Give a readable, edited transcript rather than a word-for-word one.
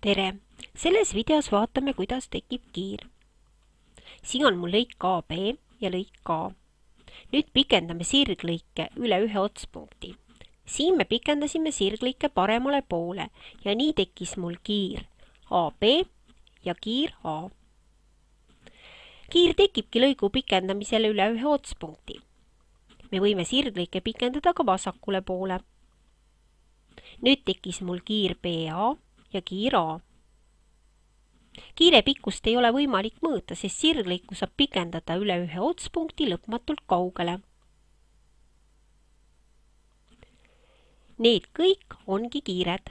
tere! Selles videos vaatame, kuidas tekib kiir. Siin on mul lõik AB ja lõik A. Nüüd pikendame sirglõike üle ühe otspunkti. Siin me pikendasime sirglõike paremale poole ja nii tekkis mul kiir AB ja kiir A. Kiir tekibki lõigu pikendamisele üle ühe otspunkti. Me võime sirglõike pikendada ka vasakule poole. Nüüd tekkis mul kiir BA ja kiir A. Kiire pikkust ei ole võimalik mõõta, sest sirglõiku saab pikendada üle ühe otspunkti lõpmatult kaugele. Need kõik ongi kiired.